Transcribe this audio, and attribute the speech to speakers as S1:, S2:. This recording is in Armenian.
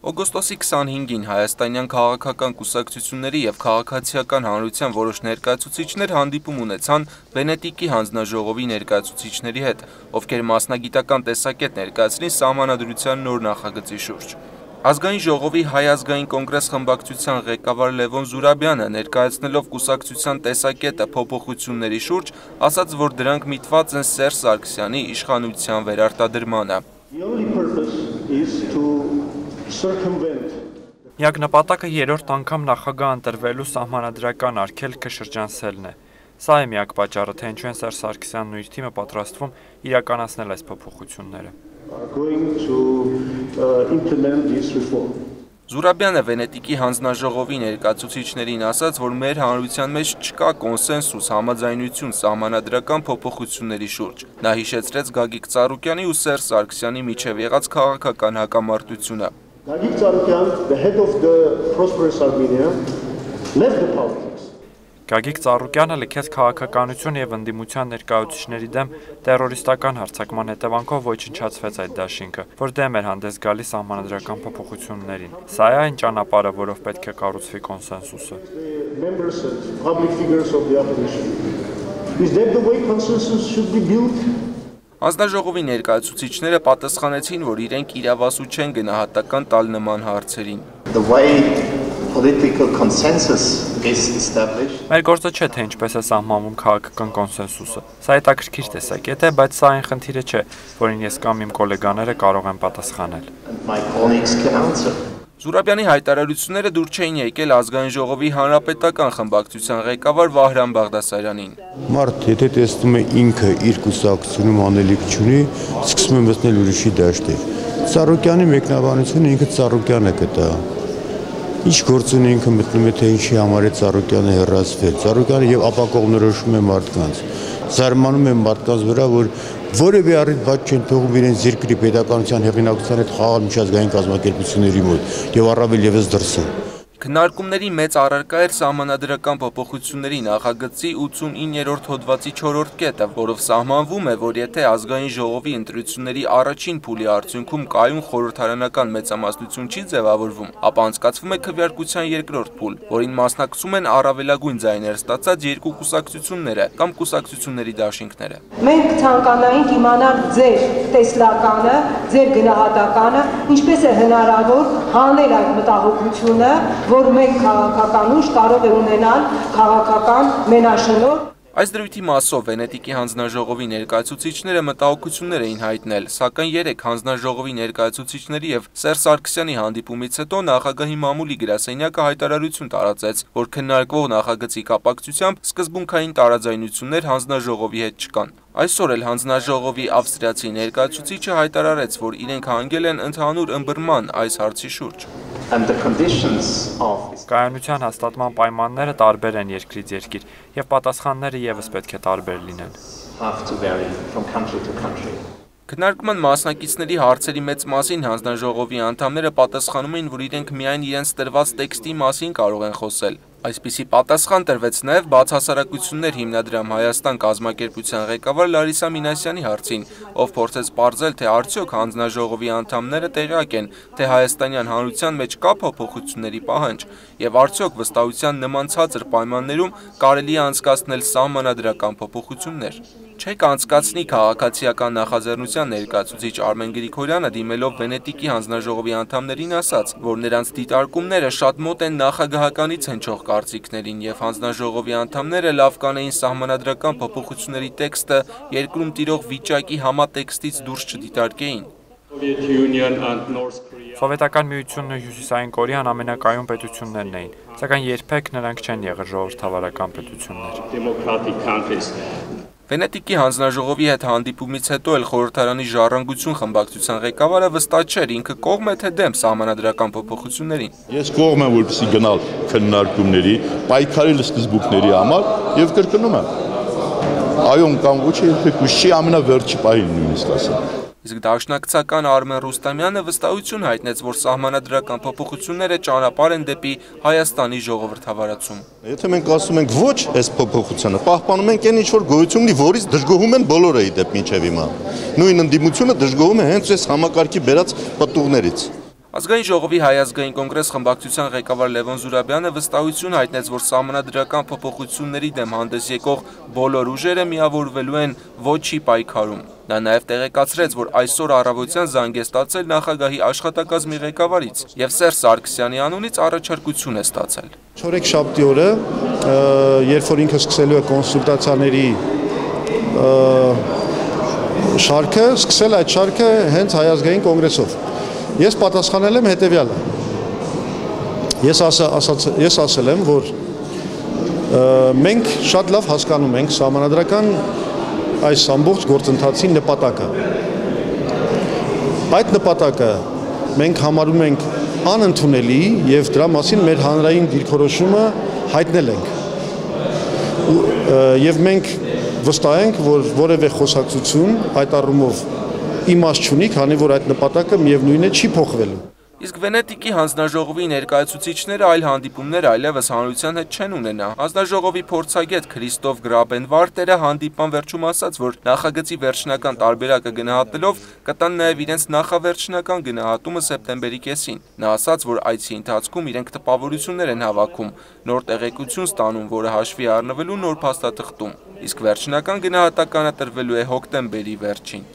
S1: Օգոստոսի 25-ին հայաստանյան քաղաքական կուսակցությունների և քաղաքացիական հանրության որոշ ներկայացուցիչներ հանդիպում ունեցան Վենետիկի հանձնաժողովի ներկայացուցիչների հետ, ովքեր մասնագիտական տեսակետ ներկայացրին Սահմանադրության նոր նախագծի շուրջ։ Ազգային ժողովի Հայ ազգային կոնգրես խմբակցության ղեկավար Լևոն Զուրաբյանը ներկայացնելով կուսակցության տեսակետը փոփոխությունների շուրջ, ասաց, որ դրանք միտված են Սերժ Սարգսյանի իշխանության վերարտադրմանը։
S2: Միակ նպատակը երրորդ անգամ նախագահ ընտրվելու սահմանադրական արգելքը շրջանցելն է։ Սա է միակ պատճառը, թե ինչու են Սերժ Սարգսյանն ու իր թիմը պատրաստվում իրականացնել այս փոփոխությունները։
S1: Զուրաբյանը Վենետիկի հանձնաժողովի ներկայացուցիչներին ասաց, որ մեր հանրության մեջ չկա կոնսենսուս համաձայնություն սահմանադրական փոփոխությունների շուրջ։ Նա հիշեցրեց Գագիկ Ծառուկյանի ու Սերժ Սարգսյանի միջև եղած քաղաքական հակամարտությունը։
S3: Գագիկ Ծառուկյան, the head of the Prosperous Armenia, left the politics.
S2: Գագիկ Ծառուկյանը լքեց քաղաքականություն և ընդդիմության ներկայացուցիչների դեմ տերորիստական հարձակման հետևանքով ոչնչացվեց այդ դաշինքը, որ դեմ էր հանդես գալիս սահմանադրական փոփոխություններին։ Սա է այն ճանապարհը, որով պետք է կառուցվի կոնսենսուսը։
S1: Հանձնաժողովի ներկայացուցիչները պատասխանեցին, որ իրենք իրավասու չեն գնահատական տալ նման հարցերին։
S2: Մեր գործը չէ, թե ինչպես է սահմանվում քաղաքական կոնսենսուսը։ Սա հետաքրքիր տեսակետ է, բայց սա այն խնդիրը չէ, որին ես կամ իմ գոլեգաները կարող են պատասխանել։
S1: Զուրաբյանի հայտարարությունները դուր չէին եկել ազգային ժողովի հանրապետական խմբակցության ղեկավար Վահրամ Բաղդասարյանին։
S4: Մարդ, եթե տեսնում է ինքը իր կուսակցությունում անելիք չունի, սկսում է մտնել ուրիշի դաշտեր։ Ծառուկյանի մեկնաբանությունը ինքը Ծառուկյանը կտա։ Ինչ գործ ունի ինքը մտնում է, թե ինչի համար է Ծառուկյանը հեռացվել։ Ծառուկյանը եւ ապակողնորոշում է մարդկանց։ Զարմանում է մարդկանց վրա, որ որևէ առիթ բաց չեն թողում իրենց երկրի պետականության հեղինակության հետ խաղալ միջազգային կազմակերպությունների մոտ եւ առավել եւս դրսում։
S1: Քննարկումների մեծ առարկա էր սահմանադրական փոփոխությունների նախագծի 89-րդ հոդվածի 4-րդ կետը, որով սահմանվում է, որ եթե ազգային ժողովի ընտրությունների առաջին փուլի արդյունքում կայուն խորհրդարանական մեծամասնություն չի ձևավորվում, ապա անցկացվում է քվեարկության երկրորդ փուլ, որին մասնակցում են առավելագույն ձայներ ստացած երկու կուսակցությունները կամ կուսակցությունների դաշինքները։
S5: Մենք ցանկանայինք իմանալ ձեր տեսլականը, ձեր գնահատականը, ինչպես է հնարավոր հանել այդ մտահոգությունը, որ մենք քաղաքական ուժ կարող է ունենալ քաղաքական մենաշնորհ։
S1: Այս դրույթի մասով Վենետիկի հանձնաժողովի ներկայացուցիչները մտահոգություններ էին հայտնել, սակայն երեք հանձնաժողովի ներկայացուցիչների և Սերժ Սարգսյանի հանդիպումից հետո նախագահի մամուլի գրասենյակը հայտարարություն տարածեց, որ քննարկվող նախագծի կապակցությամբ սկզբունքային տարաձայնություններ հանձնաժողովի հետ չկան։ Այսօր էլ հանձնաժողովի ավստրիացի ներկայացուցիչը հայտարարեց, որ իրենք հանգել են ընդհանուր ըմբռնման այս հարցի շուրջ։
S2: Կայունության հաստատման պայմանները տարբեր են երկրից երկիր, և պատասխանները ևս պետք է տարբեր լինեն։
S1: Քննարկման մասնակիցների հարցերի մեծ մասին հանձնաժողովի անդամները պատասխանում էին, որ իրենք միայն իրենց տրված տեքստի մասին կարող են խոսել։ Այսպիսի պատասխան տրվեց նաև բացահասարակություններ հիմնադրամ Հայաստան կազմակերպության ղեկավար Լարիսա Մինասյանի հարցին, ով փորձեց պարզել, թե արդյոք հանձնաժողովի անդամները տեղյակ են, թե հայաստանյան հանրության մեջ կա փոփոխությունների պահանջ, եւ արդյոք վստահության նման ցածր պայմաններում կարելի է անցկացնել սահմանադրական փոփոխություններ։ Չեք անցկացնի քաղաքացիական նախաձեռնության ներկայացուցիչ Արմեն Գրիգորյանը դիմելով Վենետիկի հանձնաժողովի անդամներին ասաց, որ նրանց դիտարկումները շատ մոտ են նախագահականից հնչող կարծիքներին եւ հանձնաժողովի անդամները լավ կանեին սահմանադրական փոփոխությունների տեքստը երկրում տիրող վիճակի համատեքստից դուրս չդիտարկեին։
S2: Սովետական միությունն ու Հյուսիսային Կորեան ամենակայուն պետություններն էին, սակայն երբեք նրանք չեն եղել ժողովրդավարական պետություններ։
S1: Վենետիկի հանձնաժողովի հետ հանդիպումից հետո էլ խորհրդարանի Ժառանգություն խմբակցության ղեկավարը վստահ չէր ինքը կողմ է թե դեմ սահմանադրական փոփոխություններին։
S6: Ես կողմ եմ, որպեսզի գնալ քննարկումների, պայքարել սկզբունքների համար եւ կրկնում եմ։ Այո, կամ ոչ երբեք չի ամենավերջի պահին նույնիսկ ասեմ։
S1: Իսկ դաշնակցական Արմեն Ռուստամյանը վստահություն հայտնեց, որ սահմանադրական փոփոխությունները ճանապարհ են դեպի Հայաստանի ժողովրդավարացում։
S6: Եթե մենք ասում ենք ոչ այս փոփոխությանը, պահպանում ենք այն ինչ որ գոյություն ունի, որից դժգոհում են բոլորը ի դեպ մինչև հիմա։ Նույն ընդդիմությունը դժգոհում է հենց այս համակարգի բերած պտուղներից։
S1: Ազգային ժողովի Հայ ազգային կոնգրես խմբակցության ղեկավար Լևոն Զուրաբյանը վստահություն հայտնեց, որ սահմանադրական փոփոխությունների դեմ հանդես եկող բոլոր ուժերը միավորվելու են ոչի պայքարում։ Նա նաև տեղեկացրեց, որ այսօր առավոտյան զանգ է ստացել նախագահի աշխատակազմի ղեկավարից և Սերժ Սարգսյանի անունից առաջարկություն է ստացել։
S3: Չորեքշաբթի օրը, երբ որ ինքը սկսելու է կոնսուլտացիաների շարքը, սկսել այդ շարքը հենց Հայ ազգային կոնգրեսով։ Ես պատասխանել եմ հետևյալը։ Ես ասել եմ, որ մենք շատ լավ հասկանում ենք սահմանադրական այս ամբողջ գործընթացի նպատակը։ Այդ նպատակը մենք համարում ենք անընդունելի եւ դրա մասին մեր հանրային դիրքորոշումը հայտնել ենք։ Եվ մենք վստահ ենք, որ որևէ խոսակցություն այդ առումով իմաստ չունի, քանի որ այդ նպատակը միևնույն է չի փոխվելու։
S1: Իսկ Վենետիկի հանձնաժողովի ներկայացուցիչները այլ հանդիպումներ այլևս հանրության հետ չեն ունենա։ Հանձնաժողովի փորձագետ Քրիստոֆ Գրաբենվարտերը հանդիպան վերջում ասաց, որ նախագծի վերջնական տարբերակը գնահատելով կտան նաև իրենց նախավերջնական գնահատումը սեպտեմբերի կեսին։ Նա ասաց, որ այցի ընթացքում իրենք տպավորություններ են հավաքում, նոր տեղեկություն ստանում, որը հաշվի առնվելու նոր փաստաթղթում, իսկ վերջնական գնահատականը տրվելու է հոկտեմբերի վերջին։